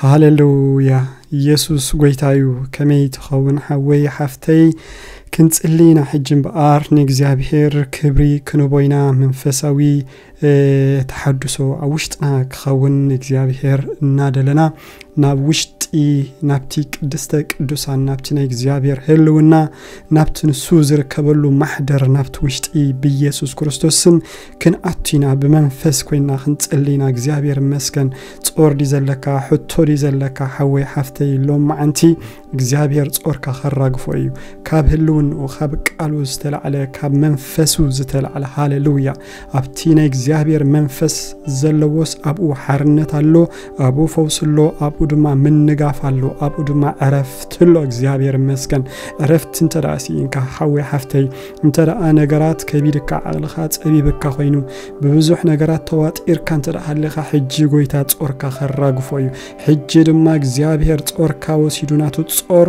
ሃሌሉያ። ኢየሱስ ጎይታ እዩ። ከመይ ትኸውን ሓወይ ሓፍተይ? ክንጽሊ ኢና ሕጂ እምበኣር ንእግዚኣብሔር ክብሪ ክንቦ ኢና። መንፈሳዊ፣ እ፣ ተሓድሶ ኣብ ውሽጥና ክኸውን እግዚኣብሔር እናደለና ናብ ውሽጢ፣ ናብቲ ቅድስተ ቅዱሳን፣ ናብቲ ናይ እግዚኣብሔር ህልውና፣ ናብቲ ንሱ ዝርከበሉ ማሕደር፣ ናብቲ ውሽጢ ብኢየሱስ ክርስቶስ ስም ክንኣቱ ኢና። ብመንፈስ ኮይና ክንጽሊ ኢና። እግዚኣብሔር ይመስገን። ጾር ድዩ ዘለካ? ሕቶ ድዩ ዘለካ? ሓወይ ሓፍተይ፣ ሎም መዓንቲ እግዚኣብሔር ጾርካ ከራግፎ እዩ። ካብ ህልውንኡ፣ ካብ ቃሉ ዝተላዕለ፣ ካብ መንፈሱ ዝተላዕለ። ሃሌሉያ። ኣብቲ ናይ እግዚኣብሔር መንፈስ ዘለዎስ ኣብኡ ሓርነት ኣሎ፣ ኣብኡ ፈውሲ ኣሎ፣ ኣብኡ ድማ ምንጋፍ ኣሎ፣ ኣብኡ ድማ ዕረፍቲ ኣሎ። እግዚኣብሔር ይመስገን። ዕረፍቲ እንተ ደኣ ስኢንካ፣ ሓወይ ሓፍተይ፣ እንተ ደኣ ነገራት ከቢድካ፣ ዓቕልኻ ጸቢብካ ኮይኑ፣ ብብዙሕ ነገራት ተዋጢርካ እንተ ደኣ ሃሊኻ፣ ሕጂ ጎይታ ጾርካ ከራግፎ እዩ። ሕጂ ድማ እግዚኣብሔር ጾርካ ወሲዱ፣ ናቱ ጾር፣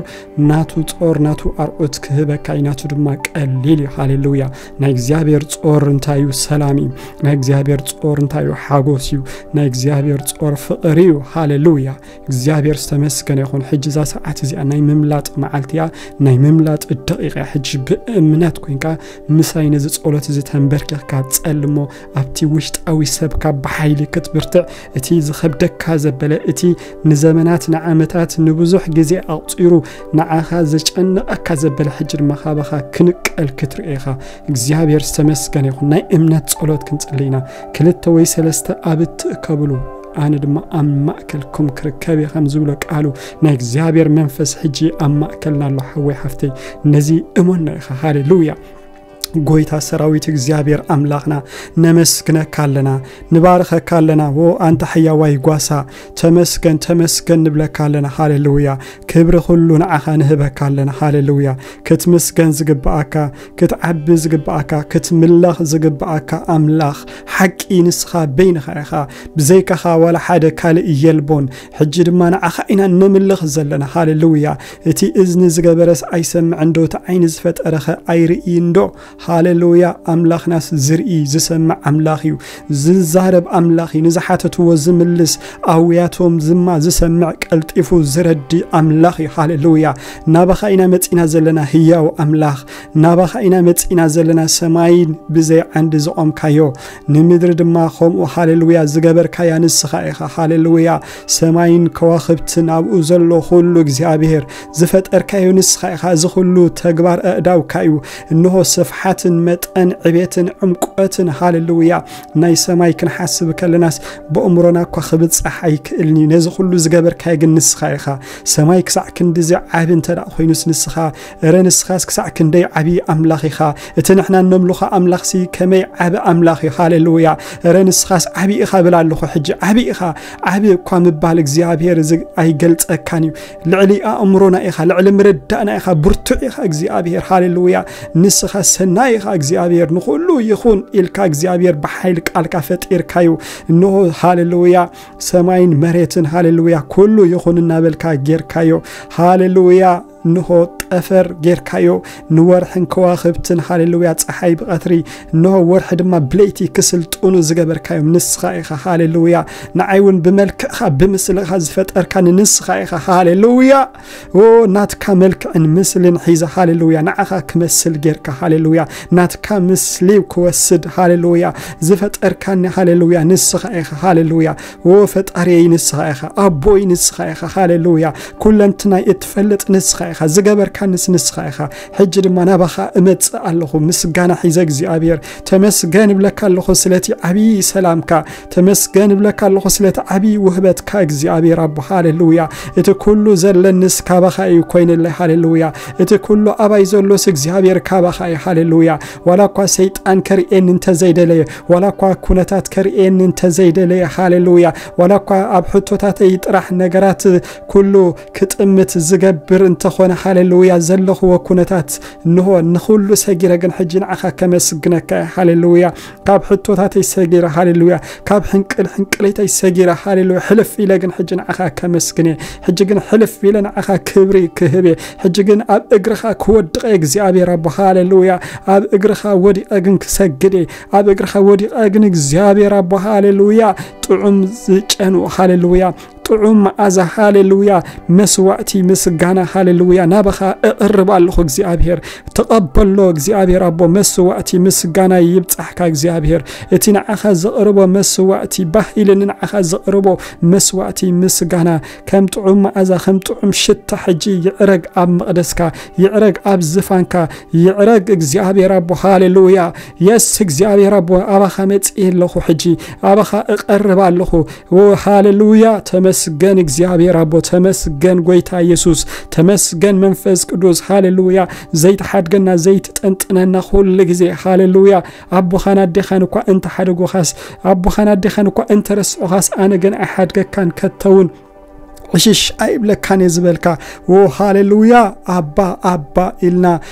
ናቱ ጾር፣ ናቱ ኣርዑት ክህበካ እዩ። ናቱ ድማ ቀሊል እዩ። ሃሌሉያ። ናይ እግዚኣብሔር ጾር እንታይ እዩ? ሰላም እዩ። ናይ እግዚኣብሔር ጾር እንታይ እዩ? ሓጎስ እዩ። ናይ እግዚኣብሔር ጾር ፍቕሪ እዩ። ሃሌሉያ። እግዚኣብሔር ዝተመስገነ ይኹን። ሕጂ እዛ ሰዓት እዚኣ ናይ ምምላጥ መዓልቲ እያ፣ ናይ ምምላጥ ደቂቕ እያ። ሕጂ ብእምነት ኮይንካ ምሳይ ነዚ ጸሎት እዚ ተንበርኪኽካ ጸልሞ። ኣብቲ ውሽጣዊ ሰብካ ብሓይሊ ክትብርትዕ፣ እቲ ዝኸብደካ ዘበለ፣ እቲ ንዘመናት፣ ንዓመታት፣ ንብዙሕ ግዜ ኣቑጺሩ ንዓኻ ዘጨንቐካ ዘበለ፣ ሕጂ ድማ ካባኻ ክንቀል ክትርኢ ኢኻ። እግዚኣብሔር ዝተመስገነ ይኹን። ናይ እምነት ጸሎት ክንጽሊ ኢና። ክልተ ወይ ሰለስተ ኣብ እትእከብሉ፣ ኣነ ድማ ኣብ ማእከልኩም ክርከብ እየ፣ ከም ዝብሎ ቃሉ፣ ናይ እግዚኣብሔር መንፈስ ሕጂ ኣብ ማእከልና ኣሎ። ሓወይ ሓፍተይ፣ ነዚ እመኖ ኢኻ። ሃሌሉያ። ጎይታ ሰራዊት እግዚኣብሔር ኣምላኽና፣ ነመስግነካ ኣለና፣ ንባርኸካ ኣለና። ዎ ኣንታ ሕያዋይ ጓሳ፣ ተመስገን፣ ተመስገን ንብለካ ኣለና። ሃሌሉያ። ክብሪ ኩሉ ንዓኻ ንህበካ ኣለና። ሃሌሉያ። ክትምስገን ዝግብኣካ፣ ክትዓቢ ዝግብኣካ፣ ክትምለኽ ዝግብኣካ ኣምላኽ ሓቂ ንስኻ በይንኻ ኢኻ። ብዘይካኻ ዋላ ሓደ ካልእ የልቦን። ሕጂ ድማ ንዓኻ ኢና ነምልኽ ዘለና። ሃሌሉያ። እቲ እዝኒ ዝገበረስ ኣይሰምዕን ዶ? እቲ ዓይኒ ዝፈጠረኸ ኣይርእይን ዶ? ሃሌሉያ። ኣምላኽናስ ዝርኢ ዝሰምዕ ኣምላኽ እዩ። ዝዛረብ ኣምላኽ እዩ። ንዝሓተትዎ ዝምልስ፣ ኣውያቶም ዝማ ዝሰምዕ፣ ቀልጢፉ ዝረዲ ኣምላኽ እዩ። ሃሌሉያ። ናባኻ ኢና መጺና ዘለና ህያው ኣምላኽ። ናባኻ ኢና መጺና ዘለና ሰማይን ብዘይ ዓንዲ ዝቖምካዮ። ንምድሪ ድማ ከምኡ፣ ሃሌሉያ፣ ዝገበርካያ ንስኻ ኢኻ። ሃሌሉያ። ሰማይን ከዋኽብትን ኣብኡ ዘሎ ኩሉ እግዚኣብሔር ዝፈጠርካዮ ንስኻ ኢኻ። እዚ ኩሉ ተግባር ኣእዳውካ እዩ። እንሆ ስፍሓትን መጠን ዕቤትን ዕምቆትን፣ ሃሌሉያ፣ ናይ ሰማይ ክንሓስብ ከለናስ ብእምሮና እኳ ክብጻሕ ኣይክእልን እዩ። ነዚ ኩሉ ዝገበርካዮ ግን ንስኻ ኢኻ። ሰማይ ክሳዕ ክንድዚ ዓቢ እንተ ደኣ ኮይኑስ ንስኻ፣ እረ ንስኻስ ክሳዕ ክንደይ ዓቢ ኣምላኽ ኢኻ። እቲ ንሕና እነምልኾ ኣምላኽሲ ከመይ ዓቢ ኣምላኽ እዩ። ሃሌሉያ። እረ ንስኻስ ዓቢ ኢኻ ብል ኣለኹ ሕጂ። ዓቢ ኢኻ። ዓቢ እኳ ምባል እግዚኣብሔር እዚ ኣይገልጸካን እዩ። ልዕሊ ኣእምሮና ኢኻ፣ ልዕሊ ምርዳእና ኢኻ፣ ብርቱዕ ኢኻ እግዚኣብሔር። ሃሌሉያ። ንስኻ ሰናይ ኢኻ እግዚኣብሔር። ንኹሉ ይኹን ኢልካ እግዚኣብሔር ብሓይሊ ቃልካ ፈጢርካዩ። እንሆ፣ ሃሌሉያ፣ ሰማይን መሬትን፣ ሃሌሉያ፣ ኩሉ ይኹን እናበልካ ጌርካዮ። ሃሌሉያ። እንሆ ጠፈር ጌርካዮ፣ ንወርሕን ከዋኽብትን፣ ሃሌሉያ፣ ጸሓይ ብቐትሪ፣ እንሆ ወርሒ ድማ ብለይቲ ክስልጥኑ ዝገበርካዮም ንስኻ ኢኻ። ሃሌሉያ። ንዓይ እውን ብመልክዕኻ ብምስልኻ ዝፈጠርካኒ ንስኻ ኢኻ። ሃሌሉያ። ኦ፣ ናትካ መልክዕን ምስልን ሒዘ፣ ሃሌሉያ፣ ንዓኻ ክመስል ጌርካ፣ ሃሌሉያ፣ ናትካ ምስሊ ክወስድ፣ ሃሌሉያ፣ ዝፈጠርካኒ፣ ሃሌሉያ፣ ንስኻ ኢኻ። ሃሌሉያ። ኦ፣ ፈጣሪየይ ንስኻ ኢኻ፣ ኣቦይ ንስኻ ኢኻ። ሃሌሉያ። ኩለንትናይ እትፈልጥ ንስኻ ኢኻ፣ ዝገበርካንስ ንስኻ ኢኻ። ሕጂ ድማ ናባኻ እመጽእ ኣለኹ፣ ምስጋና ሒዘ እግዚኣብሔር። ተመስገን እብለካ ኣለኹ ስለቲ ዓብዪ ሰላምካ፣ ተመስገን እብለካ ኣለኹ ስለቲ ዓብዪ ውህበትካ እግዚኣብሔር ኣቦ። ሃሌሉያ። እቲ ኩሉ ዘለንስ ካባኻ እዩ ኮይነለይ። ሃሌሉያ። እቲ ኩሉ ኣባይ ዘሎስ እግዚኣብሔር ካባኻ እዩ። ሃሌሉያ። ዋላ እኳ ሰይጣን ከርእየኒ እንተዘይደለየ፣ ዋላ እኳ ኩነታት ከርእየኒ እንተዘይደለየ፣ ሃሌሉያ፣ ዋላ እኳ ኣብ ሕቶታተይ ጥራሕ ነገራት ኩሉ ክጥምት ዝገብር እንተኾነ፣ ሃሌሉያ፣ ዘለኽዎ ኩነታት እንሆ ንኹሉ ሰጊረ ግን ሕጂ ንዓኻ ከመስግነካ እየ። ሃሌሉያ። ካብ ሕቶታተይ ሰጊረ፣ ሃሌሉያ፣ ካብ ሕንቅል ሕንቅለይተይ ሰጊረ፣ ሃሌሉያ፣ ሕልፍ ኢለ ግን ሕጂ ንዓኻ ከመስግን እየ። ሕጂ ግን ሕልፍ ኢለ ንዓኻ ክብሪ ክህብ እየ። ሕጂ ግን ኣብ እግርኻ ክወድቕ እየ እግዚኣብሔር ኣቦ፣ ሃሌሉያ። ኣብ እግርኻ ወዲቐ ግን ክሰግድ እየ። ኣብ እግርኻ ወዲቐ ግን እግዚኣብሔር ኣቦ፣ ሃሌሉያ፣ ጥዑም ዝጨኑ፣ ሃሌሉያ፣ ጥዑም መኣዛ፣ ሃሌሉያ፣ መስዋእቲ ምስጋና፣ ሃሌሉያ፣ ናባኻ እቕርብ ኣለኹ እግዚኣብሔር። ተቐበሎ እግዚኣብሔር ኣቦ፣ መስዋእቲ ምስጋና ይብጻሕካ እግዚኣብሔር። እቲ ንዓኻ ዘቕርቦ መስዋእቲ፣ ባህ ኢልኒ ንዓኻ ዘቕርቦ መስዋእቲ ምስጋና፣ ከም ጥዑም መኣዛ፣ ከም ጥዑም ሽታ ሕጂ ይዕረግ ኣብ መቕደስካ፣ ይዕረግ ኣብ ዝፋንካ፣ ይዕረግ እግዚኣብሔር ኣቦ፣ ሃሌሉያ። የስ እግዚኣብሔር ኣቦ፣ ኣባኻ መጽእ ኣለኹ ሕጂ፣ ኣባኻ እቐርብ ኣለኹ። ኦ ሃሌሉያ፣ ተመስገን እግዚኣብሔር ኣቦ፣ ተመስገን ጎይታ ኢየሱስ፣ ተመስገን መንፈስ ቅዱስ፣ ሃሌሉያ። ዘይትሓድገና፣ ዘይትጠንጥነና ኩሉ ግዜ፣ ሃሌሉያ። ኣቦኻን ኣዴኻን እኳ እንተሓደጉኻስ፣ ኣቦኻን ኣዴኻን እኳ እንተረስዑኻስ፣ ኣነ ግን ኣይሓድገካን፣ ከተውን ዕሽሽ ኣይብለካን እየ ዝበልካ። ኦ ሃሌሉያ፣ ኣባ፣ ኣባ ኢልና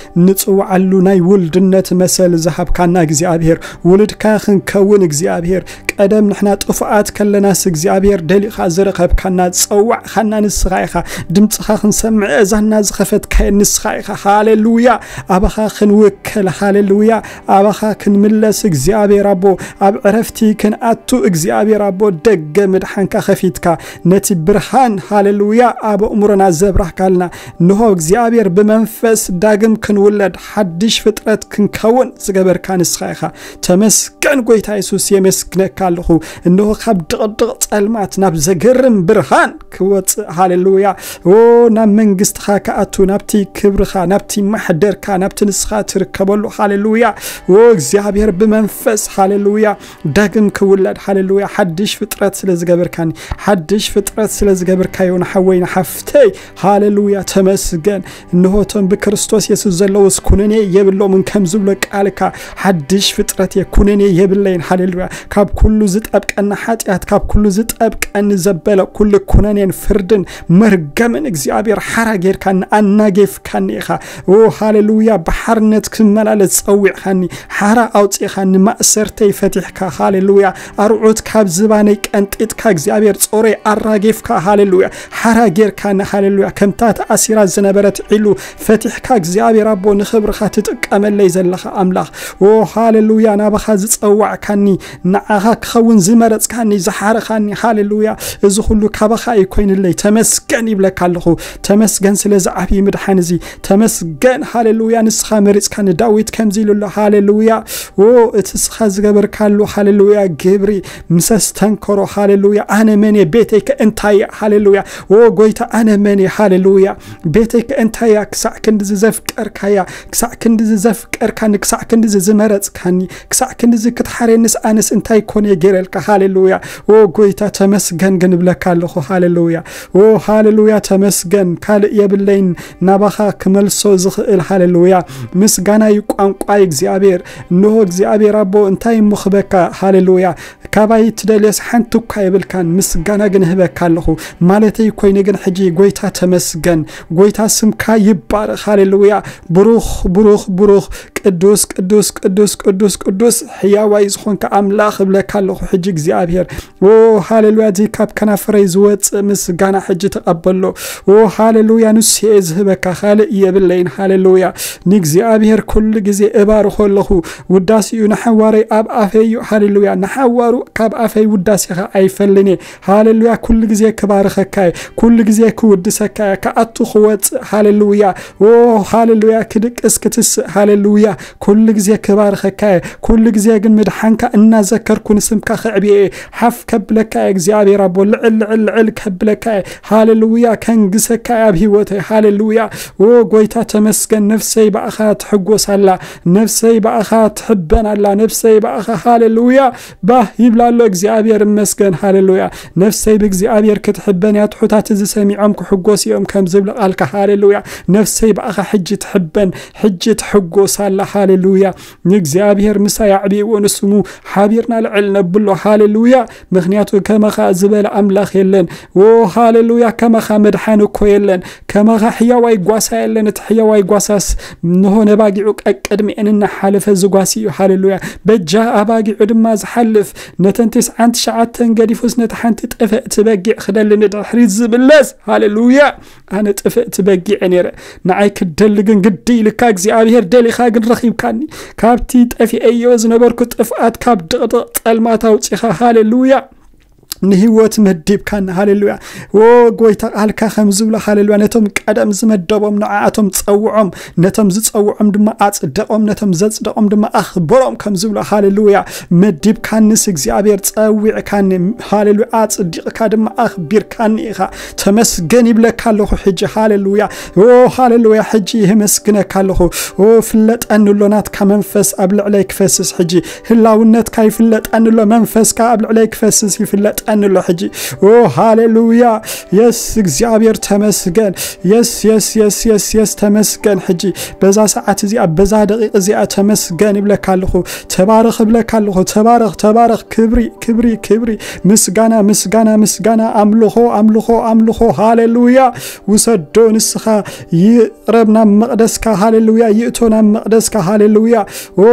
ንጽውዓሉ ናይ ውልድነት መሰል ዝሃብካና እግዚኣብሔር፣ ውሉድካ ክንከውን እግዚኣብሔር፣ ቀደም ንሕና ጥፉኣት ከለናስ እግዚኣብሔር ደሊኻ ዝረኸብካና፣ ዝጸዋዕኻና ንስኻ ኢኻ። ድምጽኻ ክንሰምዕ እዛንና ዝኸፈትካዮ ንስኻ ኢኻ። ሃሌሉያ፣ ኣባኻ ክንውከል፣ ሃሌሉያ፣ ኣባኻ ክንምለስ እግዚኣብሔር ኣቦ፣ ኣብ ዕረፍቲ ክንኣቱ እግዚኣብሔር ኣቦ፣ ደገ ምድሓንካ ከፊትካ፣ ነቲ ብርሃን፣ ሃሌሉያ፣ ኣብ ኣእምሮና ዘብራህካልና። እንሆ እግዚኣብሔር ብመንፈስ ዳግም ክንውለድ፣ ሓድሽ ፍጥረት ክንከውን ዝገበርካ ንስኻ ኢኻ። ተመስገን ጎይታ የሱስ፣ የመስግነካ ኣለኹ። እንሆ ካብ ድቕድቕ ጸልማት ናብ ዘገርም ብርሃን ክወጽእ፣ ሃሌሉያ። ኦ፣ ናብ መንግስትኻ ክኣቱ፣ ናብቲ ክብርኻ፣ ናብቲ ማሕደርካ፣ ናብቲ ንስኻ ትርከበሉ፣ ሃሌሉያ። ኦ፣ እግዚኣብሔር ብመንፈስ፣ ሃሌሉያ፣ ዳግም ክውለድ፣ ሃሌሉያ። ሓድሽ ፍጥረት ስለ ዝገበርካኒ፣ ሓድሽ ፍጥረት ስለ ዝገበርካዮ ንሓወይ ንሓፍተይ፣ ሃሌሉያ፣ ተመስገን። እንሆ እቶም ብክርስቶስ የሱስ ዘለዉስ ኩነኔ የብሎምን ከም ዝብሎ ቃልካ፣ ሓድሽ ፍጥረት እየ፣ ኩነኔ የብለይን። ሃሌሉያ። ካብ ኩሉ ዝጠብቀኒ ሓጢኣት፣ ካብ ኩሉ ዝጠብቀኒ ዘበለ ኩሉ ኩነኔን ፍርድን መርገምን እግዚኣብሔር ሓራ ጌርካኒ፣ ኣናጌፍካኒ ኢኻ። ኦ ሃሌሉያ፣ ብሓርነት ክመላለስ ጸዊዕኻኒ፣ ሓራ ኣውጺእኻኒ፣ ማእሰርተይ ፈቲሕካ። ሃሌሉያ። ኣርዑት ካብ ዝባነይ ቀንጢጥካ እግዚኣብሔር ጾረይ ኣራጌፍካ። ሃሌሉያ። ሓራ ጌርካኒ። ሃሌሉያ። ከምታ ተኣሲራ ዝነበረት ዒሉ ፈቲሕካ እግዚኣብሔር ኣቦ ንኽብርኻ ትጥቀመለይ ዘለኻ ኣምላኽ። ኦ ሃሌሉያ። ናባኻ ዝጸዋዕካኒ፣ ንዓኻ ክኸውን ዝመረጽካኒ፣ ዝሓረኻኒ። ሃሌሉያ። እዚ ኩሉ ካባኻ እዩ ኮይንለይ። ተመስገን ይብለካ ኣለኹ። ተመስገን ስለዚ ዓብዪ ምድሓን እዚ። ተመስገን። ሃሌሉያ። ንስኻ መሪጽካኒ። ዳዊት ከምዚ ኢሉ ኣሎ። ሃሌሉያ። ኦ እቲ ንስኻ ዝገበርካሉ፣ ሃሌሉያ፣ ግብሪ ምስ ኣስተንከሮ፣ ሃሌሉያ፣ ኣነ መን እየ? ቤተይ ከ እንታይ እያ? ሃሌሉያ። ኦ ጎይታ፣ ኣነ መን እየ? ሃሌሉያ። ቤተይ ከ እንታይ እያ? ክሳዕ ክንድዚ ዘፍቀርካያ፣ ክሳዕ ክንድዚ ዘፍቀርካኒ፣ ክሳዕ ክንድዚ ዝመረጽካኒ፣ ክሳዕ ክንድዚ ክትሓርየኒስ ኣነስ እንታይ ኮነ እየ ገይረልካ? ሃሌሉያ። ኦ ጎይታ፣ ተመስገን ግን እብለካ ኣለኹ። ሃሌሉያ። ኦ ሃሌሉያ፣ ተመስገን። ካልእ የብለይን ናባኻ ክመልሶ ዝኽእል። ሃሌሉያ። ምስጋና እዩ ቋንቋይ እግዚኣብሔር። እንሆ እግዚኣብሔር ኣቦ፣ እንታይ እሞ ክበካ? ሃሌሉያ። ካባይ ትደልዮስ ሓንቲ እኳ የብልካን፣ ምስጋና ግን እህበካ ኣለኹ ማለተይ ኮይኑ፣ ግን ሕጂ ጎይታ ተመስገን፣ ጎይታ ስምካ ይባረኽ። ሃሌሉያ። ብሩኽ፣ ብሩኽ፣ ብሩኽ፣ ቅዱስ፣ ቅዱስ፣ ቅዱስ፣ ቅዱስ፣ ቅዱስ፣ ሕያዋይ ዝኾንካ ኣምላኽ እብለካ ኣለኹ ሕጂ እግዚኣብሔር። ኦ ሃሌሉያ። እዚ ካብ ከናፍረይ ዝወጽእ ምስጋና ሕጂ ተቐበሎ። ኦ ሃሌሉያ። ንሱ እየ ዝህበካ፣ ካልእ የብለይን። ሃሌሉያ። ንእግዚኣብሔር ኩሉ ግዜ እባርኾ ኣለኹ። ውዳሴኡ ንሓዋረይ ኣብ ኣፈይ እዩ። ሃሌሉያ። ንሓዋሩ ካብ ኣፈይ ውዳሴኻ ኣይፈልን እየ። ሃሌሉያ። ኩሉ ግዜ ክባርኸካ እየ። ኩሉ ግዜ ክውድሰካ እየ። ክኣቱ ክወጽእ። ሃሌሉያ። ኦ ሃሌሉያ። ክድቅስ ክትስእ። ሃሌሉያ። ኩሉ ግዜ ክባርኸካ እየ። ኩሉ ግዜ ግን ምድሓንካ እናዘከርኩ ንስምካ ከዕብየ እየ። ሓፍ ከብለካ እየ እግዚኣብሔር ኣቦ። ልዕል ልዕል ልዕል ከብለካ እየ። ሃሌሉያ። ከንግሰካ እየ ኣብ ህይወተይ። ሃሌሉያ። ኦ ጎይታ ተመስገን። ነፍሰይ ብኣኻ ትሕጎስ ኣላ። ነፍሰይ ብኣኻ ትሕበን ኣላ። ነፍሰይ ብኣኻ፣ ሃሌሉያ፣ ባህ ይብላ ኣሎ። እግዚኣብሔር እመስገን። ሃሌሉያ። ነፍሰይ ብእግዚኣብሔር ክትሕበን እያ። ትሑታት እዚ ሰሚዖም ክሕጎስ እዮም ከም ዝብል ቃልካ። ሃሌሉያ። ነፍሰይ ብኣኻ ሕጂ ትሕበን፣ ሕጂ ትሕጎስ ኣላ። ሃሌሉያ። ንእግዚኣብሔር ምሳይ ኣዕብይዎ፣ ንስሙ ሓቢርና ልዕል ነብሎ። ሃሌሉያ። ምኽንያቱ ከማኻ ዝበለ ኣምላኽ የለን። ኦ ሃሌሉያ። ከማኻ መድሓኒ እኮ የለን። ከማኻ ሕያዋይ ጓሳ የለን። እቲ ሕያዋይ ጓሳስ እንሆ ነባጊዑ ቀቅድሚኤን እናሓለፈ ዝጓሲ እዩ። ሃሌሉያ። በጃ ኣባጊዑ ድማ ዝሓልፍ፣ ነተን ተስዓን ትሽዓተን ገዲፉስ ነቲ ሓንቲ ጥፍእቲ በጊዕ ክደሊ ንድሕሪት ዝምለስ። ሃሌሉያ። ኣነ ጥፍእቲ በጊዕ እየ ነይረ። ንዓይ ክደሊ ግን ግዲ ኢልካ እግዚኣብሔር ደሊኻ ግን ረኺብካኒ። ካብቲ ጠፊኤዮ ዝነበርኩ ጥፍኣት፣ ካብ ድቕድቕ ጸልማት ኣውጺኻ። ሃሌሉያ። ንህይወት መዲብካኒ። ሃሌሉያ። ኦ ጎይታ፣ ቃልካ ከም ዝብሎ፣ ሃሌሉያ፣ ነቶም ቀደም ዝመደቦም ንዓኣቶም ጸውዖም፣ ነቶም ዝጸውዖም ድማ ኣጽደቖም፣ ነቶም ዘጽደቖም ድማ ኣኽበሮም ከም ዝብሎ፣ ሃሌሉያ፣ መዲብካንስ እግዚኣብሔር፣ ጸዊዕካኒ፣ ሃሌሉያ፣ ኣጽዲቕካ ድማ ኣኽቢርካኒ ኢኻ። ተመስገን ይብለካ ኣለኹ ሕጂ። ሃሌሉያ። ኦ ሃሌሉያ፣ ሕጂ የመስግነካ ኣለኹ። ኦ ፍለጠኒ ኣሎ፣ ናትካ መንፈስ ኣብ ልዕለይ ክፈስስ ሕጂ። ህላውነትካ ይፍለጠኒ ኣሎ፣ መንፈስካ ኣብ ልዕለይ ክፈስስ ይፍለጠኒ ኣሎ ሕጂ። ኦ ሃሌሉያ። የስ እግዚኣብሔር ተመስገን። የስ የስ የስ የስ የስ ተመስገን። ሕጂ በዛ ሰዓት እዚኣ፣ በዛ ደቂቕ እዚኣ ተመስገን ይብለካ ኣለኹ። ተባረኽ እብለካ ኣለኹ። ተባረኽ፣ ተባረኽ። ክብሪ፣ ክብሪ፣ ክብሪ። ምስጋና፣ ምስጋና፣ ምስጋና። ኣምልኾ፣ ኣምልኾ፣ ኣምልኾ። ሃሌሉያ። ውሰዶ ንስኻ፣ ይቕረብ ናብ መቕደስካ። ሃሌሉያ። ይእቶ ናብ መቕደስካ። ሃሌሉያ። ኦ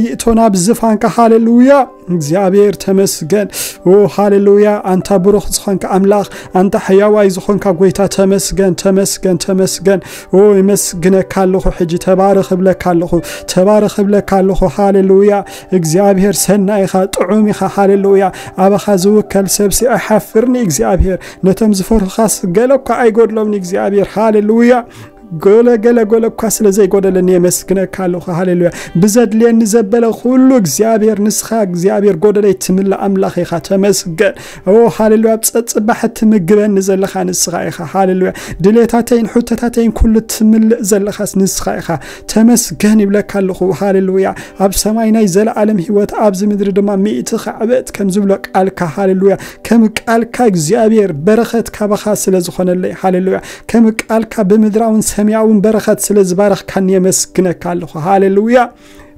ይእቶ ናብ ዝፋንካ። ሃሌሉያ። እግዚኣብሔር ተመስገን። ኦ ሃሌሉያ። ኣንታ ብሩኽ ዝኾንካ ኣምላኽ፣ ኣንታ ሕያዋይ ዝኾንካ ጎይታ፣ ተመስገን፣ ተመስገን፣ ተመስገን። ኦ የመስግነካ ኣለኹ ሕጂ። ተባረኽ እብለካ ኣለኹ። ተባረኽ እብለካ ኣለኹ። ሃሌሉያ። እግዚኣብሔር ሰናይ ኢኻ፣ ጥዑም ኢኻ። ሃሌሉያ። ኣባኻ ዝውከል ሰብሲ ኣይሓፍርኒ እግዚኣብሔር። ነቶም ዝፈርሁኻስ ገለ እኳ ኣይጎድሎምኒ እግዚኣብሔር። ሃሌሉያ። ገለ፣ ገለ፣ ገለ እኳ ስለ ዘይጎደለኒ የመስግነካ ኣለኹ። ሃሌሉያ። ብዘድልየኒ ዘበለ ኩሉ እግዚኣብሔር፣ ንስኻ እግዚኣብሔር ጎደለይ ትምልእ ኣምላኽ ኢኻ። ተመስገን። ኦ ሃሌሉያ። ኣብ ጸጽባሕ ትምግበኒ ዘለኻ ንስኻ ኢኻ። ሃሌሉያ። ድሌታተይን ሕቶታተይን ኩሉ ትምልእ ዘለኻስ ንስኻ ኢኻ። ተመስገን ይብለካ ኣለኹ። ሃሌሉያ። ኣብ ሰማይ ናይ ዘለኣለም ህይወት፣ ኣብዚ ምድሪ ድማ ሚእቲ ካዕበት ከም ዝብሎ ቃልካ። ሃሌሉያ። ከም ቃልካ እግዚኣብሔር በረኸት ካባኻ ስለ ዝኾነለይ። ሃሌሉያ። ከም ቃልካ ብምድራውን ሰማያውን በረኸት ስለ ዝባረኽካኒ የመስግነካ ኣለኹ። ሃሌሉያ።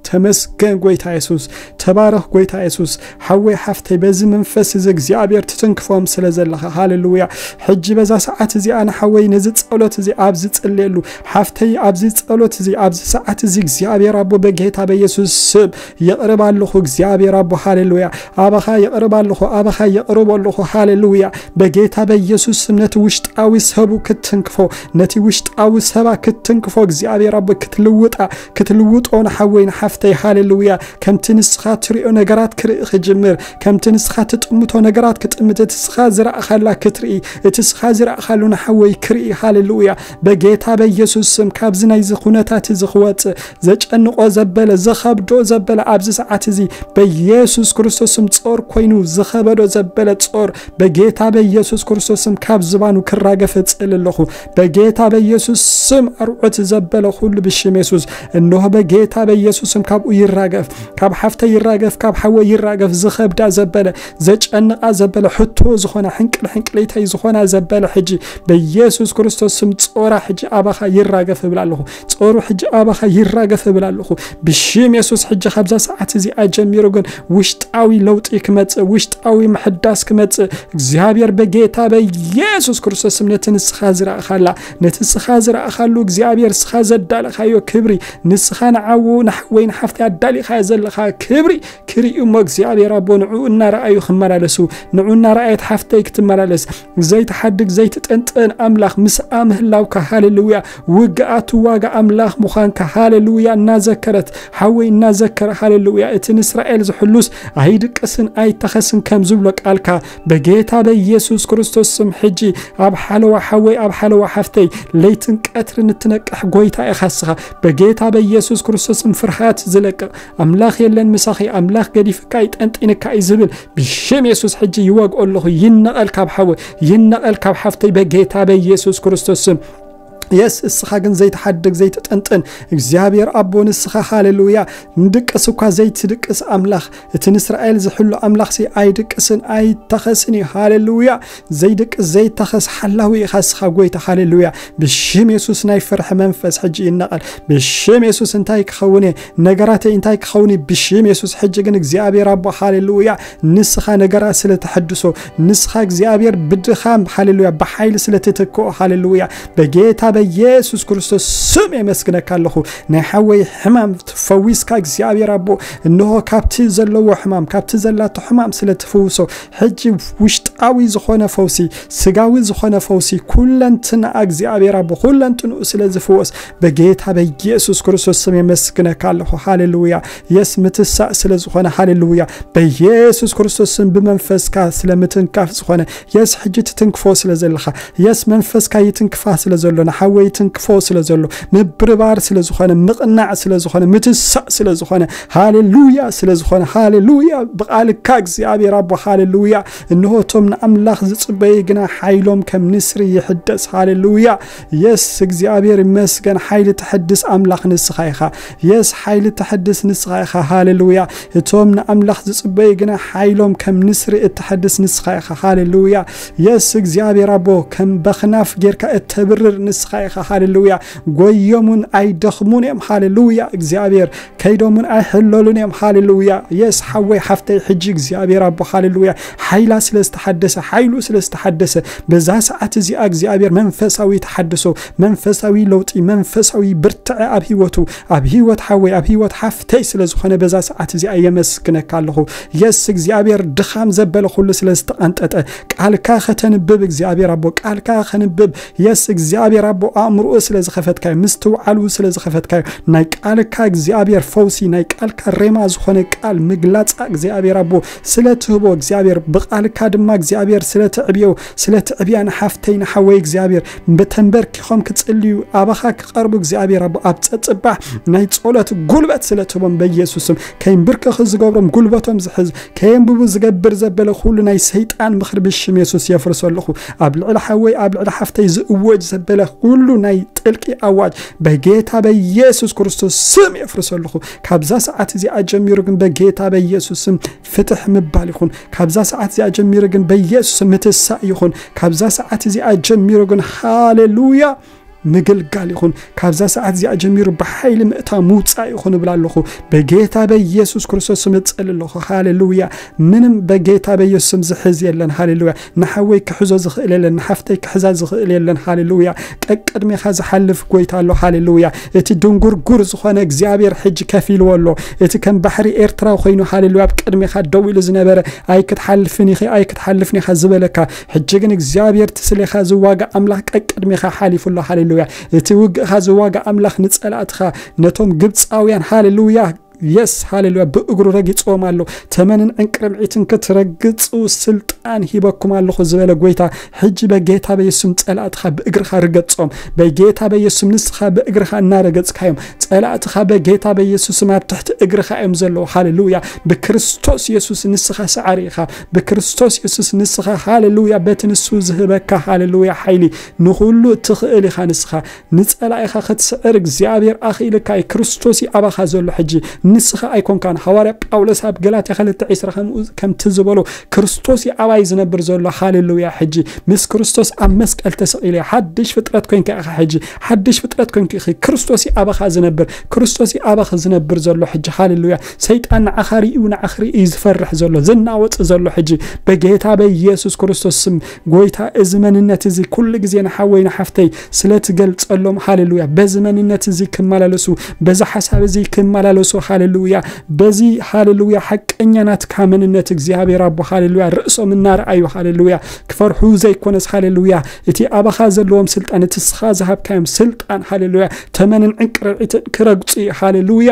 ተመስገን ጎይታ የሱስ። ተባረኽ ጎይታ የሱስ። ሓወይ ሓፍተይ፣ በዚ መንፈስ እዚ እግዚኣብሔር ትትንክፎም ስለ ዘለኻ። ሃሌሉያ። ሕጂ በዛ ሰዓት እዚኣ ንሓወይ ነዚ ጸሎት እዚ ኣብዚ ጸልየሉ፣ ሓፍተይ ኣብዚ ጸሎት እዚ ኣብዚ ሰዓት እዚ እግዚኣብሔር ኣቦ በጌታ በኢየሱስ ስም የቕርብ ኣለኹ። እግዚኣብሔር ኣቦ ሃሌሉያ። ኣባኻ የቕርብ ኣለኹ። ኣባኻ የቕርብ ኣለኹ። ሃሌሉያ። በጌታ በኢየሱስ ስም ነቲ ውሽጣዊ ሰቡ ክትትንክፎ፣ ነቲ ውሽጣዊ ሰባ ክትትንክፎ እግዚኣብሔር ኣቦ ክትልውጣ፣ ክትልውጦ ንሓወይ ንሓፍተይ። ሃሌሉያ። ከምቲ ንስኻ ትሪኦ ነገራት ክርኢ ክጅምር፣ ከምቲ ንስኻ ትጥምቶ ነገራት ክጥምት፣ እቲ ስኻ ዝረኣኻላ ክትርኢ፣ እቲ ስኻ ዝረኣኻሉ ንሓወይ ክርኢ። ሃሌሉያ። በጌታ በኢየሱስ ስም ካብዚ ናይዚ ኩነታት እዚ ክወጽእ፣ ዘጨንቆ ዘበለ፣ ዘኸብዶ ዘበለ ኣብዚ ሰዓት እዚ በኢየሱስ ክርስቶስ ስም ጾር ኮይኑ ዝኸበዶ ዘበለ ጾር በጌታ በኢየሱስ ክርስቶስ ስም ካብ ዝባኑ ክራገፍ እጽል ኣለኹ። በጌታ በኢየሱስ ስም ኣርዑት ዘበለ ኩሉ ብሽም የሱስ እንሆ በጌታ በኢየሱስ ስም ካብኡ ይራገፍ፣ ካብ ሓፍተ ይራገፍ፣ ካብ ሓወ ይራገፍ። ዝኸብዳ ዘበለ፣ ዘጨንቃ ዘበለ፣ ሕቶ ዝኾና፣ ሕንቅል ሕንቅሊተይ ዝኾና ዘበለ ሕጂ በኢየሱስ ክርስቶስ ስም ጾራ ሕጂ ኣባኻ ይራገፍ እብል ኣለኹ። ጾሩ ሕጂ ኣባኻ ይራገፍ እብል ኣለኹ። ብሽም የሱስ ሕጂ ካብዛ ሰዓት እዚኣ ጀሚሩ ግን ውሽጣዊ ለውጢ ክመጽእ፣ ውሽጣዊ ምሕዳስ ክመጽእ እግዚኣብሔር በጌታ በኢየሱስ ክርስቶስ ስም ነቲ ንስኻ ዝረኣኻላ፣ ነቲ ንስኻ ዝረኣኻሉ እግዚኣብሔር ንስኻ ዘዳለኻዮ ክብሪ፣ ንስኻ ንዓዉ ንሓወይ ንሓፍቲ ኣዳሊኻዮ ዘለኻ ክብሪ ክርእዩ እሞ እግዚኣብሔር ኣቦ ንዕኡ እናረኣዩ ክመላለሱ፣ ንዕኡ እናረኣየት ሓፍተይ ክትመላለስ ዘይትሓድግ ዘይትጥንጥን ኣምላኽ ምስኣ ምህላውካ ሃሌሉያ። ውግኣት ዋጋ ኣምላኽ ምዃንካ ሃሌሉያ እናዘከረት ሓወይ እናዘከረ ሃሌሉያ እቲ ንእስራኤል ዝሕሉስ ኣይድቅስን ኣይተኸስን ከም ዝብሎ ቃልካ በጌታ በኢየሱስ ክርስቶስ ስም ሕጂ ኣብ ሓለዋ ሓወይ ኣብ ሓለዋ ሓፍተይ ለይትን ቀትርን እትነቅሕ ጎይታ ኢኻ እስኻ። በጌታ በኢየሱስ ክርስቶስ ስም ፍርሃት ዝለቅቕ ኣምላኽ የለን ምሳኺ፣ ኣምላኽ ገዲፍካ እዩ፣ ጠንጢንካ እዩ ዝብል ብሽም የሱስ ሕጂ ይወግኦ ኣለኹ። ይነቐል ካብ ሓወይ፣ ይነቐል ካብ ሓፍተይ በጌታ በኢየሱስ ክርስቶስ ስም። የስ እስኻ ግን ዘይትሓድግ ዘይትጥንጥን እግዚኣብሔር ኣቦ ንስኻ ሃሌሉያ። ንድቅስ እኳ ዘይትድቅስ ኣምላኽ፣ እቲ ንእስራኤል ዝሕሉ ኣምላኽሲ ኣይድቅስን ኣይተኸስን እዩ። ሃሌሉያ። ዘይድቅስ ዘይተኸስ ሓላዊ ኢኻ እስኻ ጎይታ። ሃሌሉያ። ብሽም የሱስ ናይ ፍርሒ መንፈስ ሕጂ ይነቐል። ብሽም የሱስ እንታይ ክኸውን እየ? ነገራተይ እንታይ ክኸውን እዩ? ብሽም የሱስ ሕጂ ግን እግዚኣብሔር ኣቦ ሃሌሉያ። ንስኻ ነገራት ስለ ተሐድሶ፣ ንስኻ እግዚኣብሔር ብድኻም ሃሌሉያ፣ ብሓይሊ ስለ ትትክኦ ሃሌሉያ። በጌታ ኢየሱስ ክርስቶስ ስም የመስግነካ ኣለኹ። ናይ ሓወይ ሕማም ፈዊስካ እግዚኣብሔር ኣቦ፣ እንሆ ካብቲ ዘለዎ ሕማም፣ ካብቲ ዘላቶ ሕማም ስለ ትፍውሶ፣ ሕጂ ውሽጣዊ ዝኾነ ፈውሲ፣ ስጋዊ ዝኾነ ፈውሲ፣ ኩለንትና እግዚኣብሔር ኣቦ፣ ኩለንትንኡ ስለ ዝፍወስ፣ በጌታ በኢየሱስ ክርስቶስ ስም የመስግነካ ኣለኹ። ሃሌሉያ። የስ ምትሳእ ስለ ዝኾነ፣ ሃሌሉያ። በኢየሱስ ክርስቶስ ስም ብመንፈስካ ስለ ምትንካፍ ዝኾነ፣ የስ ሕጂ ትትንክፎ ስለ ዘለኻ፣ የስ መንፈስካ ይትንክፋ ስለ ዘሎ፣ ንሓወይ ይትንክፎ ስለ ዘሎ፣ ምብርባር ስለ ዝኾነ፣ ምቕናዕ ስለ ዝኾነ፣ ምትሳእ ስለ ዝኾነ፣ ሃሌሉያ ስለ ዝኾነ፣ ሃሌሉያ። ብቓልካ እግዚኣብሔር ኣቦ፣ ሃሌሉያ። እንሆ እቶም ንኣምላኽ ዝጽበዩ ግና ሓይሎም ከም ንስሪ ይሕደስ። ሃሌሉያ። የስ እግዚኣብሔር ይመስገን። ሓይሊ ተሐድስ ኣምላኽ ንስኻ ኢኻ። የስ ሓይሊ ተሐድስ ንስኻ ኢኻ። ሃሌሉያ። እቶም ንኣምላኽ ዝጽበዩ ግና ሓይሎም ከም ንስሪ እተሐድስ ንስኻ ኢኻ። ሃሌሉያ። የስ እግዚኣብሔር ኣቦ፣ ከም በኽናፍ ጌርካ እተብርር ንስኻ ኢኻ። ሃሌሉያ። ጎዮምን ኣይደኽሙን እዮም። ሃሌሉያ። እግዚኣብሔር ከይዶምን ኣይሕለሉን እዮም። ሃሌሉያ። የስ ሓወይ ሓፍተይ፣ ሕጂ እግዚኣብሔር ኣቦ፣ ሃሌሉያ፣ ሓይላ ስለ ዝተሓደሰ፣ ሓይሉ ስለ ዝተሓደሰ፣ በዛ ሰዓት እዚኣ እግዚኣብሔር መንፈሳዊ ተሓድሶ፣ መንፈሳዊ ለውጢ፣ መንፈሳዊ ብርትዐ ኣብ ህይወቱ፣ ኣብ ህይወት ሓወይ፣ ኣብ ህይወት ሓፍተይ ስለ ዝኾነ በዛ ሰዓት እዚኣ የመስግነካ ኣለኹ። የስ እግዚኣብሔር ድኻም ዘበለ ኩሉ ስለ ዝተቐንጠጠ፣ ቃልካ ከተንብብ እግዚኣብሔር ኣቦ፣ ቃልካ ከንብብ፣ የስ እግዚኣብሔር ኣቦ፣ ኣእምሮኡ ስለ ዝኸፈትካዮ፣ ምስትውዓሉ ስለ ዝኸፈትካዮ፣ ናይ ቃልካ እግዚኣብሔር ፈውሲ፣ ናይ ቃልካ ሬማ ዝኾነ ቃል ምግላጻ እግዚኣብሔር ኣቦ ስለ ትህቦ፣ እግዚኣብሔር ብቃልካ ድማ እግዚኣብሔር ስለ ተዕብዮ፣ ስለ ትዕብያ ንሓፍተይ ንሓወይ እግዚኣብሔር ብተንበርኪኾም ክጽልዩ፣ ኣባኻ ክቐርቡ እግዚኣብሔር ኣቦ ኣብ ጸጽባሕ ናይ ጸሎት ጉልበት ስለ ትህቦም በኢየሱስ ስም፣ ከይንብርከኹ ዝገብሮም ጉልበቶም ዝሕዝ፣ ከየንብቡ ዝገብር ዘበለ ኩሉ ናይ ሰይጣን ምኽሪ ብሽም የሱስ የፍርሶ ኣለኹ። ኣብ ልዕሊ ሓወይ፣ ኣብ ልዕሊ ሓፍተይ ዝእወጅ ዘበለ ኩሉ ናይ ጥልቂ ኣዋጅ በጌታ በኢየሱስ ክርስቶስ ስም የፍርሶ ኣለኹ። ካብዛ ሰዓት እዚኣ ጀሚሩ ግን በጌታ በኢየሱስ ስም ፍትሕ ምባል ይኹን። ካብዛ ሰዓት እዚኣ ጀሚሩ ግን በኢየሱስ ስም ምትሳእ ይኹን። ካብዛ ሰዓት እዚኣ ጀሚሩ ግን ሃሌሉያ ምግልጋል ይኹን። ካብዛ ሰዓት እዚኣ ጀሚሩ ብሓይሊ ምእታ ምውጻእ ይኹን እብል ኣለኹ። በጌታ በኢየሱስ ክርስቶስ ስም እጸሊ ኣለኹ። ሃሌሉያ። ምንም በጌታ በኢየሱስ ስም ዝሕዝ የለን። ሃሌሉያ። ንሓወይ ክሕዞ ዝኽእል የለን። ንሓፍተይ ክሕዛ ዝኽእል የለን። ሃሌሉያ። ቀቅድሜኻ ዝሓልፍ ጎይታ ኣሎ። ሃሌሉያ። እቲ ድንጉርጉር ዝኾነ እግዚኣብሔር ሕጂ ከፊልዎ ኣሎ። እቲ ከም ባሕሪ ኤርትራ ኮይኑ፣ ሃሌሉያ፣ ኣብ ቅድሜኻ ደው ኢሉ ዝነበረ፣ ኣይክትሓልፍን ኢኺ፣ ኣይክትሓልፍን ኢኻ ዝበለካ፣ ሕጂ ግን እግዚኣብሔር ትስሌኻ ዝዋጋ ኣምላኽ ቀቅድሜኻ ሓሊፉ ኣሎ። ሃሌሉያ። እቲ ውግእኻ ዝዋጋ ኣምላኽ ንጸላእትኻ፣ ነቶም ግብጻውያን፣ ሃሌሉያ፣ የስ፣ ሃሌሉያ፣ ብእግሩ ረጊጽዎም ኣሎ። ተመንን ዕንቅርብዒትን ክትረግጹ ስልጣን ሂበኩም ኣለኹ ዝበለ ጎይታ፣ ሕጂ በጌታ በየሱስም ጸላእትኻ ብእግርኻ ርገጾም። በጌታ በየሱስም ንስኻ ብእግርኻ እናረገጽካዮም፣ ጸላእትኻ በጌታ በየሱስም ኣብ ትሕቲ እግርኻ እዮም ዘለዉ። ሃሌሉያ። ብክርስቶስ የሱስ ንስኻ ሰዓሪ ኢኻ። ብክርስቶስ የሱስ ንስኻ፣ ሃሌሉያ፣ በቲ ንሱ ዝህበካ፣ ሃሌሉያ፣ ሓይሊ ንኹሉ ትኽእል ኢኻ ንስኻ። ንጸላኢኻ ክትስዕር እግዚኣብሔር ኣኽኢልካ እዩ። ክርስቶስ እዩ ኣባኻ ዘሎ ሕጂ። ንስኻ ኣይኮንካን። ሃዋርያ ጳውሎስ ኣብ ገላትያ ክልተ ዕስራ ከምኡ፣ ከምቲ ዝበሎ፣ ክርስቶስ እዩ ኣባይ ዝነብር ዘሎ። ሃሌሉያ። ሕጂ ምስ ክርስቶስ ኣብ መስቀል ተሰቒለ፣ ሓድሽ ፍጥረት ኮንካ ኢኻ ሕጂ። ሓድሽ ፍጥረት ኮንኪ ኢኺ። ክርስቶስ እዩ ኣባኻ ዝነብር። ክርስቶስ እዩ ኣባኺ ዝነብር ዘሎ ሕጂ። ሃሌሉያ። ሰይጣን ንዓኻ ርእዩ፣ ንዓኺ ርእዩ ዝፈርሕ ዘሎ፣ ዝናወጽ ዘሎ ሕጂ፣ በጌታ በኢየሱስ ክርስቶስ ስም፣ ጎይታ፣ እዚ መንነት እዚ ኩሉ ግዜ ንሓወይ ንሓፍተይ ስለ ትገልጸሎም፣ ሃሌሉያ፣ በዚ መንነት እዚ ክመላለሱ፣ በዚ ሓሳብ እዚ ክመላለሱ፣ ሃሌሉያ፣ በዚ፣ ሃሌሉያ፣ ሓቀኛ ናትካ መንነት እግዚኣብሔር ኣቦ፣ ሃሌሉያ፣ ርእሶም እናረኣዩ፣ ሃሌሉያ፣ ክፈርሑ ዘይኮነስ፣ ሃሌሉያ፣ እቲ ኣባኻ ዘለዎም ስልጣን፣ እቲ ንስኻ ዝሃብካዮም ስልጣን፣ ሃሌሉያ፣ ተመንን ዕንቅርቢትን ክረግጹ እዩ፣ ሃሌሉያ።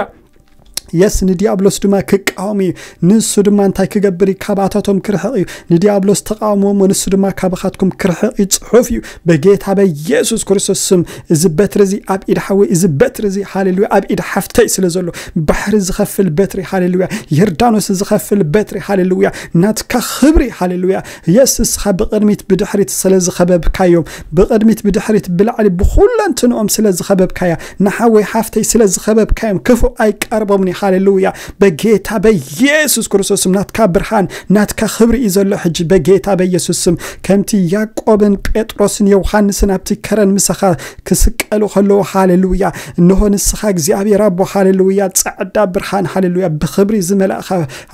የስ፣ ንዲያብሎስ ድማ ክቃወም እዩ። ንሱ ድማ እንታይ ክገብር እዩ? ካባታቶም ክርሕቕ እዩ። ንዲያብሎስ ተቃወምዎ እሞ ንሱ ድማ ካባኻትኩም ክርሕቕ እዩ። ጽሑፍ እዩ። በጌታ በኢየሱስ ክርስቶስ ስም፣ እዚ በትሪ እዚ ኣብ ኢድ ሓወይ፣ እዚ በትሪ እዚ፣ ሃሌሉያ፣ ኣብ ኢድ ሓፍተይ ስለ ዘሎ፣ ባሕሪ ዝኸፍል በትሪ፣ ሃሌሉያ፣ ዮርዳኖስ ዝኸፍል በትሪ፣ ሃሌሉያ፣ ናትካ ክብሪ፣ ሃሌሉያ። የስ፣ ንስኻ ብቕድሚት ብድሕሪት ስለ ዝኸበብካዮም፣ ብቕድሚት ብድሕሪት ብላዕሊ ብኹለንትንኦም ስለ ዝኸበብካያ፣ ንሓወይ ሓፍተይ ስለ ዝኸበብካዮም፣ ክፉእ ኣይቀርቦምን እዩ። ሃሌሉያ። በጌታ በኢየሱስ ክርስቶስ ስም ናትካ ብርሃን፣ ናትካ ክብሪ እዩ ዘሎ ሕጂ በጌታ በኢየሱስ ስም። ከምቲ ያዕቆብን ጴጥሮስን ዮሃንስን ኣብቲ ከረን ምሳኻ ክስቀሉ ከለዉ፣ ሃሌሉያ፣ እንሆ ንስኻ እግዚኣብሔር ኣቦ፣ ሃሌሉያ፣ ጻዕዳ ብርሃን፣ ሃሌሉያ፣ ብክብሪ ዝመላእኻ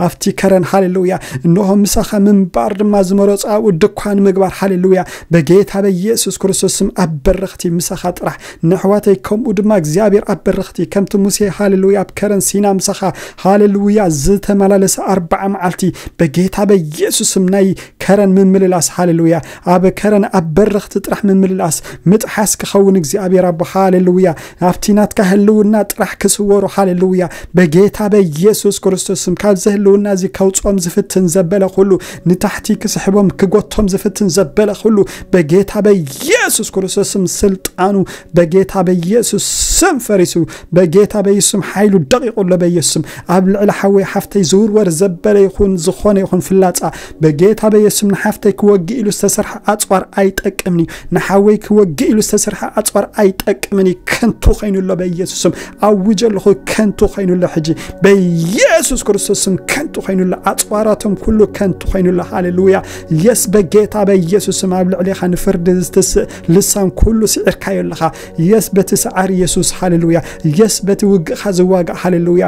ኣብቲ ከረን፣ ሃሌሉያ፣ እንሆ ምሳኻ ምንባር ድማ ዝመረጹ ኣብኡ ድኳን ምግባር፣ ሃሌሉያ፣ በጌታ በኢየሱስ ክርስቶስ ስም ኣብ በረኽቲ ምሳኻ ጥራሕ ንኣሕዋተይ ከምኡ ድማ እግዚኣብሔር ኣብ በረኽቲ ከምቲ ሙሴ፣ ሃሌሉያ፣ ኣብ ከረን ሲና ምሳኻ፣ ሃሌሉያ፣ ዝተመላለሰ ኣርባዓ መዓልቲ በጌታ በኢየሱስ ስም ናይ ከረን ምምልላስ፣ ሃሌሉያ፣ ኣብ ከረን ኣብ በረኽቲ ጥራሕ ምምልላስ ምጥሓስ ክኸውን እግዚኣብሔር ኣቦ፣ ሃሌሉያ፣ ኣብቲ ናትካ ህልውና ጥራሕ ክስወሩ፣ ሃሌሉያ፣ በጌታ በኢየሱስ ክርስቶስ ስም ካብዚ ህልውና እዚ ከውፅኦም ዝፍትን ዘበለ ኩሉ፣ ንታሕቲ ክስሕቦም ክጎቶም ዝፍትን ዘበለ ኩሉ በጌታ በኢየሱስ ክርስቶስ ስም ስልጣኑ በጌታ በኢየሱስ ስም ፈሪሱ፣ በጌታ በኢየሱስ ስም ሓይሉ ደቂቑ ኣሎ። በኢየሱስ ስም ኣብ ልዕሊ ሓወይ ሓፍተይ ዝውርወር ዘበለ ይኹን ዝኾነ ይኹን ፍላጻ በጌታ በኢየሱስ ስም ንሓፍተይ ክወግእ ኢሉ ዝተሰርሐ ኣጽዋር ኣይጠቅምን እዩ። ንሓወይ ክወግእ ኢሉ ዝተሰርሐ ኣጽዋር ኣይጠቅምን እዩ። ከንቱ ኮይኑ ኣሎ። በኢየሱስ ስም ኣውጀ ኣለኹ። ከንቱ ኮይኑ ኣሎ። ሕጂ በኢየሱስ ክርስቶስ ስም ከንቱ ኮይኑ ኣሎ። ኣጽዋራቶም ኩሉ ከንቱ ኮይኑ ኣሎ። ሃሌሉያ። የስ በጌታ በኢየሱስ ስም ኣብ ልዕሌኻ ንፍርዲ ዝትስእ ልሳን ኩሉ ስዒርካዮ ኣለኻ። የስ በቲ ሰዓር ኢየሱስ፣ ሃሌሉያ። የስ በቲ ውግእኻ ዝዋጋእ፣ ሃሌሉያ።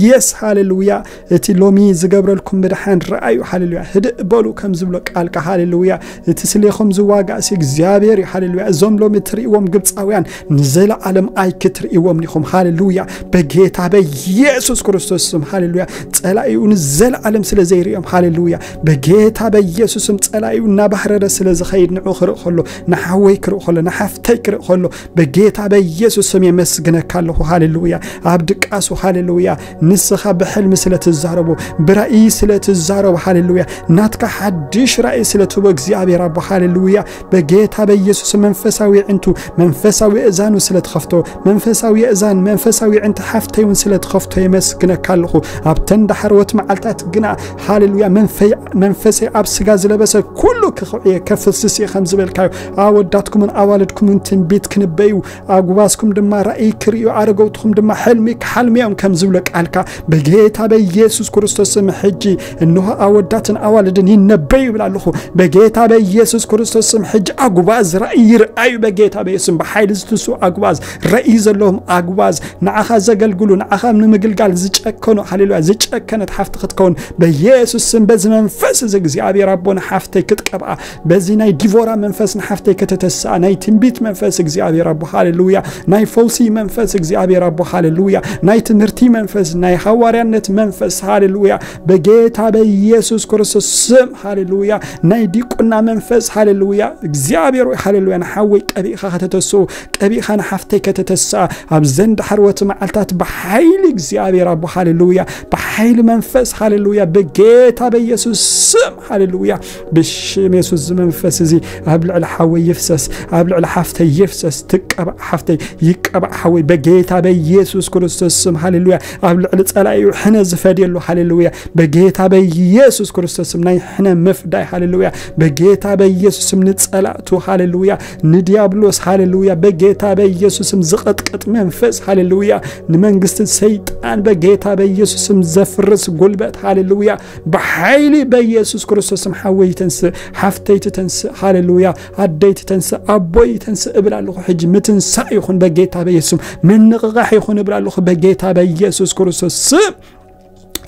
የስ፣ ሃሌሉያ። እቲ ሎሚ ዝገብረልኩም ምድሓን ረኣዩ፣ ሃሌሉያ። ህድእ በሉ ከም ዝብሎ ቃልካ፣ ሃሌሉያ። እቲ ስሌኹም ዝዋጋእ ሲ እግዚኣብሔር እዩ፣ ሃሌሉያ። እዞም ሎሚ ትርእይዎም ግብፃውያን ንዘለዓለም ኣይክትርእይዎም ኢኹም፣ ሃሌሉያ። በጌታ በኢየሱስ ክርስቶስ ስም፣ ሃሌሉያ። ጸላኢኡ ንዘለዓለም ስለ ዘይርእዮም፣ ሃሌሉያ። በጌታ በኢየሱስ ስም ጸላኢኡ እናባህረረ ስለ ዝኸይድ ንዑ ክርኢ ከሎ፣ ንሓወይ ክርኢ ከሎ፣ ንሓፍተይ ክርኢ ከሎ፣ በጌታ በኢየሱስ ስም የመስግነካ ኣለኹ፣ ሃሌሉያ። ኣብ ድቃሱ፣ ሃሌሉያ። ንስኻ ብሕልሚ ስለ ትዛረቦ፣ ብራእይ ስለ ትዛረቦ፣ ሃሌሉያ። ናትካ ሓድሽ ራእይ ስለ ትህቦ እግዚኣብሔር ኣቦ፣ ሃሌሉያ። በጌታ በኢየሱስ መንፈሳዊ ዕንቱ፣ መንፈሳዊ እዛኑ ስለ ትኸፍቶ፣ መንፈሳዊ እዛን፣ መንፈሳዊ ዕንቱ ሓፍተይ እውን ስለ ትኸፍቶ የመስግነካ ኣለኹ። ኣብተን ዳሕረዎት መዓልታት ግና፣ ሃሌሉያ፣ መንፈይ-፣ መንፈሰይ ኣብ ስጋ ዝለበሰ ኩሉ ክኽዕየ ከፍስስ እየ ከም ዝበልካዮ፣ ኣወዳትኩምን ኣዋልድኩምን ትንቢት ክንበዩ፣ ኣጉባዝኩም ድማ ራእይ ክርእዩ፣ ኣረገውትኹም ድማ ሕልሚ ክሓልሙ እዮም ከም ዝብሎ ቃልካ፣ በጌታ በኢየሱስ ክርስቶስ ስም ሕጂ እንሆ ኣወዳትን ኣዋልድን ይነበዩ ይብል ኣለኹ። በጌታ በኢየሱስ ክርስቶስ ስም ሕጂ ኣጉባዝ ራእይ ይርኣዩ። በጌታ በኢየሱስ ስም ብሓይሊ ዝትስኡ ኣጉባዝ፣ ራእይ ዘለዎም ኣጉባዝ፣ ንዓኻ ዘገልግሉ፣ ንዓኻ ንምግልጋል ዝጨከኑ፣ ሃሌሉያ፣ ዝጨከነት ሓፍቲ ክትከውን በኢየሱስ ስም በዚ መንፈስ እዚ እግዚኣብሔር ኣቦ ንሓፍተይ ክትቀብኣ፣ በዚ ናይ ዲቮራ መንፈስ ንሓፍተይ ከተተስኣ፣ ናይ ትንቢት መንፈስ እግዚኣብሔር ኣቦ፣ ሃሌሉያ፣ ናይ ፈውሲ መንፈስ እግዚኣብሔር ኣቦ፣ ሃሌሉያ፣ ናይ ትምህርቲ መንፈስ፣ ናይ ሃዋርያነት መንፈስ፣ ሃሌሉያ፣ በጌታ በኢየሱስ ክርስቶስ ስም፣ ሃሌሉያ፣ ናይ ዲቁና መንፈስ፣ ሃሌሉያ፣ እግዚኣብሔር ሆይ፣ ሃሌሉያ፣ ንሓወይ ቀቢእኻ ከተተስኡ፣ ቀቢእኻ ንሓፍተይ ከተተስኣ፣ ኣብዘን ዳሕረዎት መዓልታት ብሓይሊ እግዚኣብሔር ኣቦ፣ ሃሌሉያ፣ ብሓይሊ መንፈስ፣ ሃሌሉያ፣ በጌታ በኢየሱስ ስም፣ ሃሌሉያ፣ ብሽም የሱስ እዚ መንፈስ እዚ ኣብ ልዕሊ ሓወይ ይፍሰስ፣ ኣብ ልዕሊ ሓፍተይ ይፍሰስ። ትቀባእ ሓፍተይ፣ ይቀባእ ሓወይ፣ በጌታ በኢየሱስ ክርስቶስ ስም፣ ሃሌሉያ። ኣብ ልዕሊ ጸላኢኡ ሕነ ዝፈድየሉ፣ ሃሌሉያ፣ በጌታ በኢየሱስ ክርስቶስ ስም ናይ ሕነ ምፍዳይ፣ ሃሌሉያ፣ በጌታ በኢየሱስ ስም ንጸላእቱ፣ ሃሌሉያ፣ ንዲያብሎስ፣ ሃሌሉያ፣ በጌታ በኢየሱስ ስም ዝቐጥቅጥ መንፈስ፣ ሃሌሉያ፣ ንመንግስቲ ሰይጣን በጌታ በኢየሱስ ስም ዘፍርስ ጉልበት፣ ሃሌሉያ፣ ብሓይሊ በኢየሱስ ክርስቶስ ስም ሓወይ ተንስእ፣ ሓፍተይ ትተንስእ፣ ሃሌሉያ፣ ኣደይ ትተንስእ፣ ኣቦይ ተንስእ እብል ኣለኹ። ሕጂ ምትንሳእ ይኹን በጌታ በኢየሱስ ስም፣ ምንቕቓሕ ይኹን እብል ኣለኹ በጌታ በኢየሱስ ክርስቶስ ስም።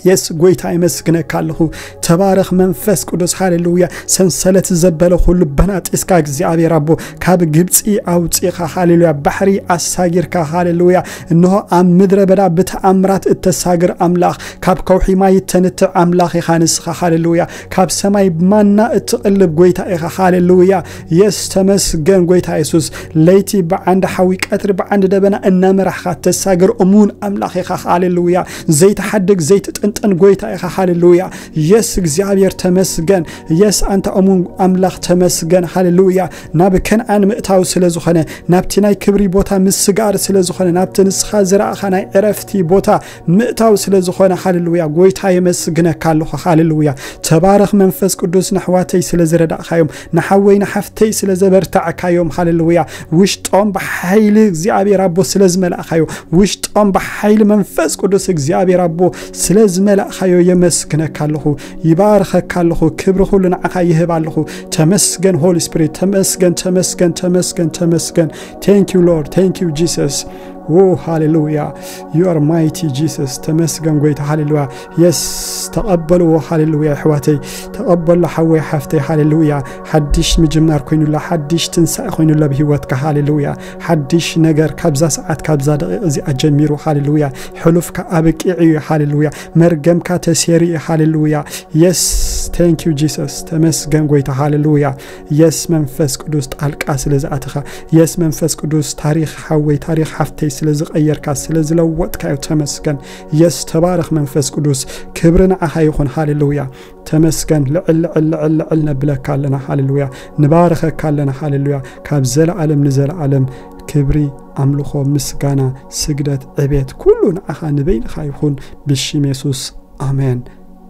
የስ ጎይታ የመስግነካ ኣለኹ። ተባረኽ መንፈስ ቅዱስ፣ ሃሌሉያ። ሰንሰለት ዘበለ ኩሉ በናጢስካ እግዚኣብሔር ኣቦ ካብ ግብፂ ኣውፂኻ፣ ሃሌሉያ። ባሕሪ ኣሳጊርካ፣ ሃሌሉያ። እንሆ ኣብ ምድረ በዳ ብተኣምራት እተሳግር ኣምላኽ፣ ካብ ከውሒ ማይ እተንትዕ ኣምላኽ ኢኻ ንስኻ፣ ሃሌሉያ። ካብ ሰማይ ማና እትቕልብ ጎይታ ኢኻ፣ ሃሌሉያ። የስ ተመስገን ጎይታ የሱስ። ለይቲ ብዓንዲ ሓዊ፣ ቀትሪ ብዓንዲ ደበና እናመራሕኻ እተሳግር እሙን ኣምላኽ ኢኻ፣ ሃሌሉያ። ዘይትሓድግ ዘይትጥን መጠን ጎይታ ኢኻ። ሃሌሉያ። የስ እግዚኣብሔር ተመስገን። የስ ኣንታ እሙን ኣምላኽ ተመስገን። ሃሌሉያ። ናብ ከነኣን ምእታው ስለ ዝኾነ፣ ናብቲ ናይ ክብሪ ቦታ ምስጋር ስለ ዝኾነ፣ ናብቲ ንስኻ ዝረኣኻ ናይ ዕረፍቲ ቦታ ምእታው ስለ ዝኾነ፣ ሃሌሉያ፣ ጎይታ የመስግነካ ኣለኹ። ሃሌሉያ። ተባረኽ መንፈስ ቅዱስ፣ ንኣሕዋተይ ስለ ዝረዳእካዮም፣ ንሓወይ ንሓፍተይ ስለ ዘበርታዕካዮም፣ ሃሌሉያ። ውሽጦም ብሓይሊ እግዚኣብሔር ኣቦ ስለ ዝመላእካዮ፣ ውሽጦም ብሓይሊ መንፈስ ቅዱስ እግዚኣብሔር ኣቦ ስለ ዝመላእካዮ የመስግነካ ኣለኹ፣ ይባርኸካ ኣለኹ። ክብሪ ኩሉ ንዓኻ ይህብ ኣለኹ። ተመስገን ሆሊ ስፒሪት፣ ተመስገን፣ ተመስገን፣ ተመስገን፣ ተመስገን። Thank you Lord, thank you Jesus. ዎ ሃሌሉያ። You are mighty Jesus። ተመስገን ጎይታ። ሃሌሉያ። የስ፣ ተቐበልዎ። ሃሌሉያ። ኣሕዋተይ፣ ተቐበሎ። ሓወይ ሓፍተይ፣ ሃሌሉያ። ሓድሽ ምጅማር ኮይኑላ፣ ሓድሽ ትንሳኤ ኮይኑላ ብህይወትካ። ሃሌሉያ። ሓድሽ ነገር ካብዛ ሰዓት፣ ካብዛ ደቂቕ እዚኣ ጀሚሩ። ሃሌሉያ። ሕሉፍካ ኣብቂዑ እዩ። ሃሌሉያ። መርገምካ ተሴሩ እዩ። ሃሌሉያ። የስ፣ thank you Jesus። ተመስገን ጎይታ። ሃሌሉያ። የስ መንፈስ ቅዱስ፣ ጣልቃ ስለ ዝኣተኻ፣ የስ መንፈስ ቅዱስ፣ ታሪኽ ሓወይ፣ ታሪኽ ሓፍተይ ስለ ዝቐየርካ፣ ስለ ዝለወጥካዮ ተመስገን። የስ፣ ተባረኽ መንፈስ ቅዱስ። ክብሪ ንዓኻ ይኹን። ሃሌሉያ። ተመስገን። ልዕል ልዕል ልዕል ልዕል ነብለካ ኣለና። ሃሌሉያ። ንባርኸካ ኣለና። ሃሌሉያ። ካብ ዘለኣለም ንዘለኣለም ክብሪ፣ ኣምልኾ፣ ምስጋና፣ ስግደት፣ ዕቤት ኩሉ ንዓኻ ንበይንኻ ይኹን፣ ብሽም የሱስ። ኣሜን።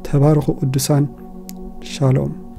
ተባረኹ ቅዱሳን። ሻሎም።